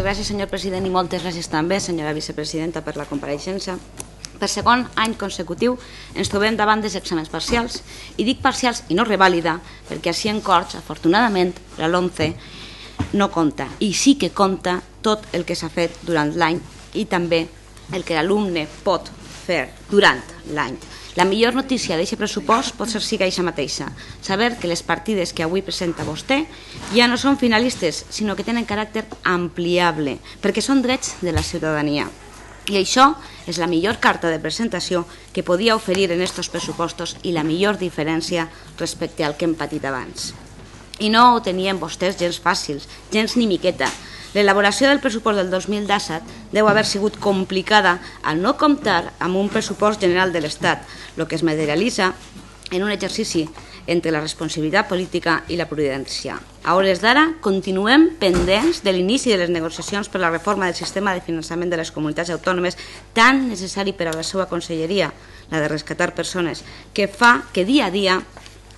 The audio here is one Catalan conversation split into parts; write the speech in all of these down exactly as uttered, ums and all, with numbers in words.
gràcies, senyor president, i moltes gràcies també, senyora vicepresidenta, per la compareixença. Per segon any consecutiu ens trobem davant dels exàmens parcials, i dic parcials i no revàlida, perquè així en Corts, afortunadament, la LOMCE no compta, i sí que compta tot el que s'ha fet durant l'any i també el que l'alumne pot fer durant l'any. La millor notícia d'aquest pressupost pot ser siga aquesta mateixa, saber que les partides que avui presenta vostè ja no són finalistes, sinó que tenen caràcter ampliable, perquè són drets de la ciutadania. I això és la millor carta de presentació que podia oferir en aquests pressupostos i la millor diferència respecte al que hem patit abans. I no ho tenien vostès gens fàcils, gens ni miqueta. L'elaboració del pressupost del dos mil disset deu haver sigut complicada al no comptar amb un pressupost general de l'Estat, el que es materialitza en un exercici entre la responsabilitat política i la prudència. A hores d'ara, continuem pendents de l'inici de les negociacions per la reforma del sistema de finançament de les comunitats autònomes, tan necessari per a la seva conselleria, la de rescatar persones, que fa que dia a dia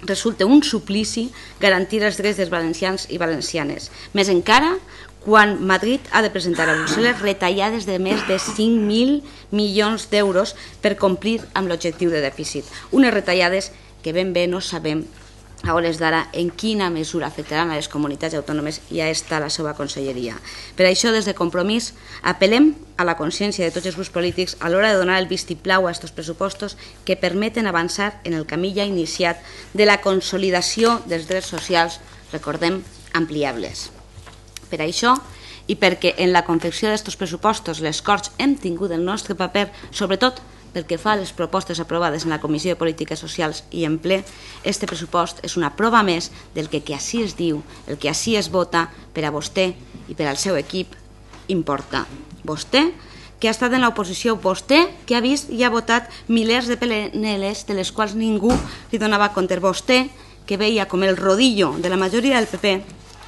resulta un suplici garantir els drets dels valencians i valencianes. Més encara, quan Madrid ha de presentar a Brussel·les retallades de més de cinc mil milions d'euros per complir amb l'objectiu de dèficit. Unes retallades que ben bé no sabem a hores d'ara en quina mesura afectaran a les comunitats autònomes i a esta la seva conselleria. Per això, des de Compromís, apel·lem a la consciència de tots els grups polítics a l'hora de donar el vistiplau a aquests pressupostos que permeten avançar en el camí ja iniciat de la consolidació dels drets socials, recordem, ampliables. Per això, i perquè en la confecció d'aquests pressupostos les Corts hem tingut el nostre paper, sobretot pel que fa a les propostes aprovades en la Comissió de Polítiques Socials i en ple, este pressupost és una prova més del que així es diu, el que així es vota per a vostè i per al seu equip importa. Vostè, que ha estat en l'oposició, vostè que ha vist i ha votat milers de P N Ls de les quals ningú li donava compte, vostè que veia com el rodillo de la majoria del P P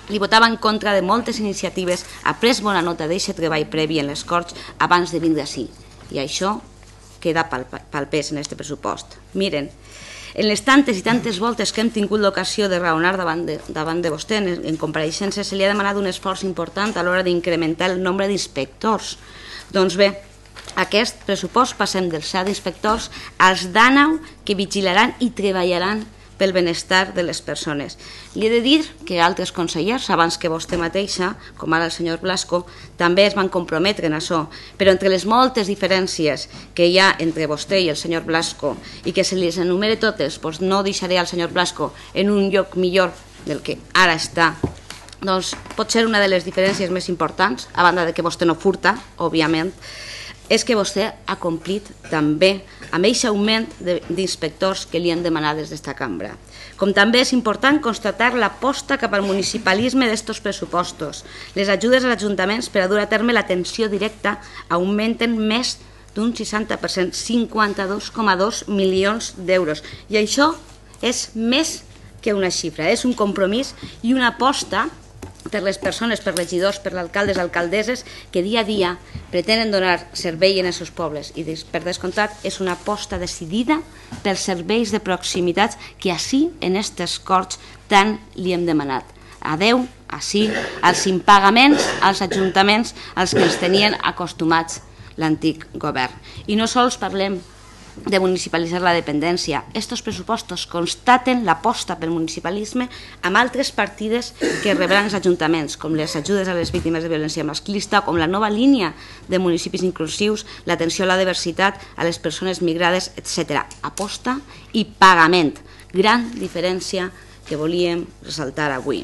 li votava en contra de moltes iniciatives, ha pres bona nota d'aquest treball previ en les Corts abans de vindre així. I això queda palpès en aquest pressupost. Miren, en les tantes i tantes voltes que hem tingut l'ocasió de raonar davant de, davant de vostè en, en compareixences, se li ha demanat un esforç important a l'hora d'incrementar el nombre d'inspectors. Doncs bé, aquest pressupost passem dels set inspectors als dinou que vigilaran i treballaran pel benestar de les persones. Li he de dir que altres consellers, abans que vostè mateixa, com ara el senyor Blasco, també es van comprometre en això, però entre les moltes diferències que hi ha entre vostè i el senyor Blasco i que se les enumere totes, doncs no deixaré al senyor Blasco en un lloc millor del que ara està, doncs pot ser una de les diferències més importants, a banda de que vostè no furta, òbviament, és que vostè ha complit també amb aquest augment d'inspectors que li han demanat des d'esta cambra. Com també és important constatar l'aposta cap al municipalisme d'estos pressupostos. Les ajudes als ajuntaments per a dur a terme l'atenció directa augmenten més d'un seixanta per cent, cinquanta-dos coma dos milions d'euros. I això és més que una xifra, és un compromís i una aposta per les persones, per regidors, per alcaldes, alcaldesses, que dia a dia pretenen donar servei en els seus pobles. I per descomptat és una aposta decidida pels serveis de proximitat que així en aquestes Corts tant li hem demanat. Adeu, així, als impagaments als ajuntaments als que ens tenien acostumats l'antic govern. I no sols parlem de municipalitzar la dependència. Estos pressupostos constaten l'aposta pel municipalisme amb altres partides que rebran els ajuntaments, com les ajudes a les víctimes de violència masclista, com la nova línia de municipis inclusius, l'atenció a la diversitat, a les persones migrades, etcètera. Aposta i pagament. Gran diferència que volíem ressaltar avui.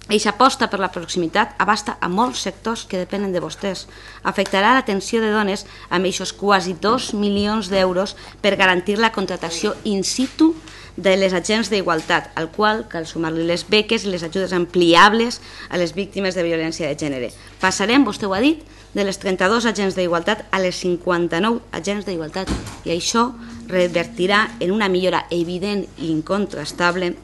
Eixa aposta per la proximitat abasta a molts sectors que depenen de vostès. Afectarà l'atenció de dones amb eixos quasi dos milions d'euros per garantir la contractació in situ de les agents d'igualtat, al qual cal sumar-li les beques i les ajudes ampliables a les víctimes de violència de gènere. Passarem, vostè ho ha dit, de les trenta-dos agents d'igualtat a les cinquanta-nou agents d'igualtat i això revertirà en una millora evident i incontrastable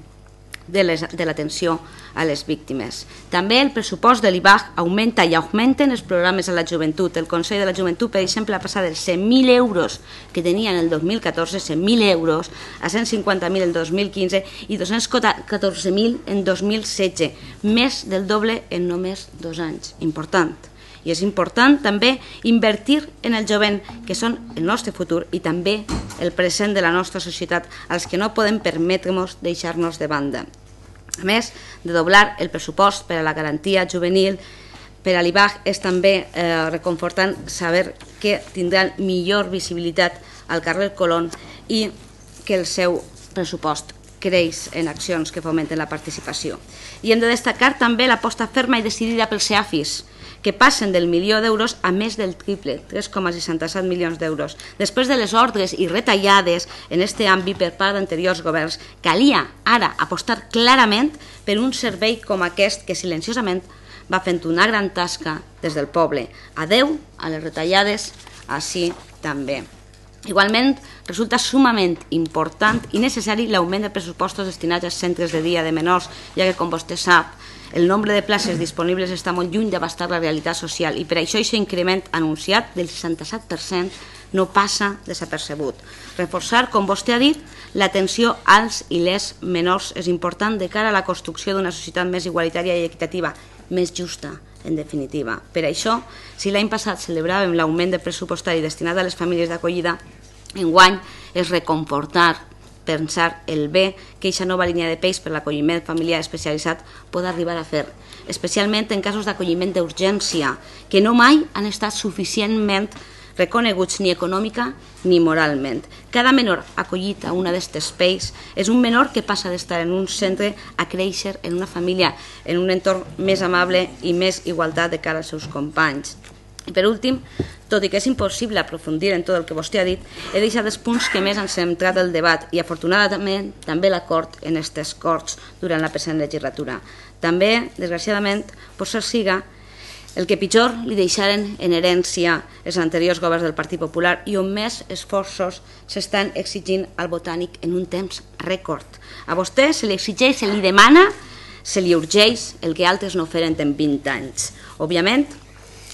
de l'atenció a les víctimes. També el pressupost de l'I B A G augmenta i augmenten els programes a la joventut. El Consell de la Joventut, per exemple, ha passat dels cent mil euros que tenia en el dos mil catorze, cent mil euros, a cent cinquanta mil el dos mil quinze i dos-cents catorze mil en dos mil setze, més del doble en només dos anys. Important. I és important també invertir en el jovent, que són el nostre futur i també el present de la nostra societat, als que no podem permetre-nos deixar-nos de banda. A més de doblar el pressupost per a la garantia juvenil, per a l'I B A G és també eh, reconfortant saber que tindran millor visibilitat al carrer Colón i que el seu pressupost creix en accions que fomenten la participació. I hem de destacar també l'aposta ferma i decidida pels CEAFIS, que passen del milió d'euros a més del triple, tres coma seixanta-set milions d'euros. Després de les ordres i retallades en aquest àmbit per part d'anteriors governs, calia ara apostar clarament per un servei com aquest que silenciosament va fent una gran tasca des del poble. Adeu a les retallades, així també. Igualment, resulta sumament important i necessari l'augment de pressupostos destinats als centres de dia de menors, ja que, com vostè sap, el nombre de places disponibles està molt lluny d'abastar la realitat social i per això aquest increment anunciat del seixanta-set per cent no passa desapercebut. Reforçar, com vostè ha dit, l'atenció als i les menors és important de cara a la construcció d'una societat més igualitària i equitativa, més justa, en definitiva. Per això, si l'any passat celebràvem l'augment de pressupostari destinat a les famílies d'acollida, enguany és reconfortar, pensar el bé que aquesta nova línia de peix per l'acolliment familiar especialitzat pot arribar a fer, especialment en casos d'acolliment d'urgència, que no mai han estat suficientment reconeguts ni econòmica ni moralment. Cada menor acollit a una d'aquestes peix és un menor que passa d'estar en un centre a créixer en una família, en un entorn més amable i més igualtat de cara als seus companys. I per últim, tot i que és impossible aprofundir en tot el que vostè ha dit, he deixat els punts que més han centrat el debat i afortunadament també l'acord en aquestes Corts durant la present legislatura. També, desgraciadament, pot ser siga el que pitjor li deixaren en herència els anteriors governs del Partit Popular i on més esforços s'estan exigint al Botànic en un temps rècord. A vostè se li exigeix, se li demana, se li urgeix el que altres no feren en vint anys. Òbviament,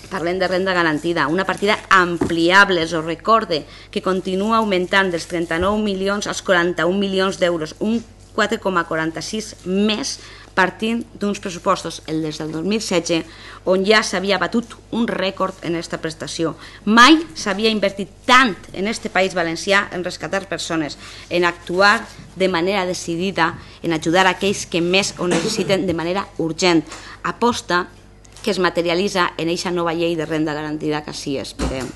parlem de renda garantida, una partida ampliable, us ho recorde, que continua augmentant dels trenta-nou milions als quaranta-un milions d'euros, un quatre coma quaranta-sis més partint d'uns pressupostos, el des del dos mil setze, on ja s'havia batut un rècord en aquesta prestació. Mai s'havia invertit tant en aquest País Valencià en rescatar persones, en actuar de manera decidida, en ajudar aquells que més ho necessiten de manera urgent. Aposta que es materialitza en aquesta nova llei de renda garantida que sí esperem.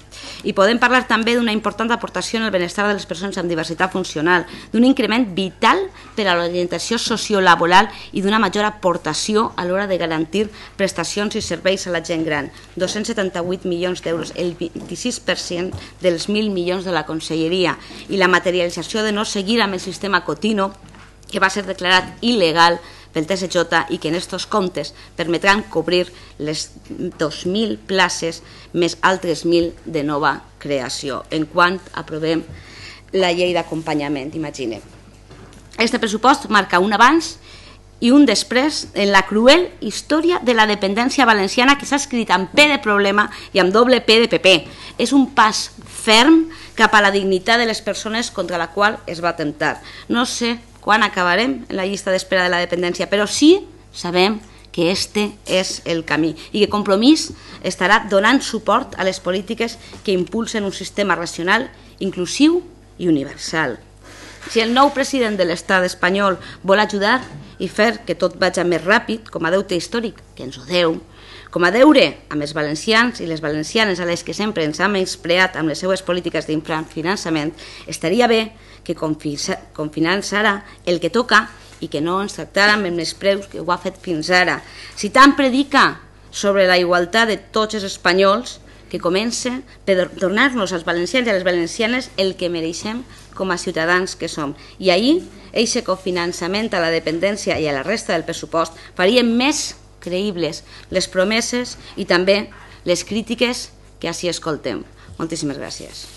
I podem parlar també d'una important aportació en el benestar de les persones amb diversitat funcional, d'un increment vital per a l'orientació sociolaboral i d'una major aportació a l'hora de garantir prestacions i serveis a la gent gran. dos-cents setanta-vuit milions d'euros, el vint-i-sis per cent dels mil milions de la Conselleria, i la materialització de no seguir amb el sistema Cotino, que va ser declarat il·legal pel T S J i que en aquests comptes permetran cobrir les dos mil places més altres mil de nova creació, en quant aprovem la llei d'acompanyament, imaginem. Este pressupost marca un abans i un després en la cruel història de la dependència valenciana que s'ha escrit amb P de problema i amb doble P de P P. És un pas ferm cap a la dignitat de les persones contra la qual es va atemptar. No sé quan acabarem en la llista d'espera de la dependència, però sí sabem que este és el camí i que Compromís estarà donant suport a les polítiques que impulsen un sistema racional, inclusiu i universal. Si el nou president de l'estat espanyol vol ajudar i fer que tot vagi més ràpid, com a deute històric, que ens ho deu, com a deure amb els valencians i les valencianes a les que sempre ens ha menyspreat amb les seues polítiques d'infrafinançament, estaria bé que confinançara el que toca i que no ens tractara amb els menyspreus que ho ha fet fins ara. Si tant predica sobre la igualtat de tots els espanyols, que comence per donar-nos als valencians i a les valencianes el que mereixem com a ciutadans que som. I ahir, aquest cofinançament a la dependència i a la resta del pressupost farien més creïbles les promeses i també les crítiques que així escoltem. Moltíssimes gràcies.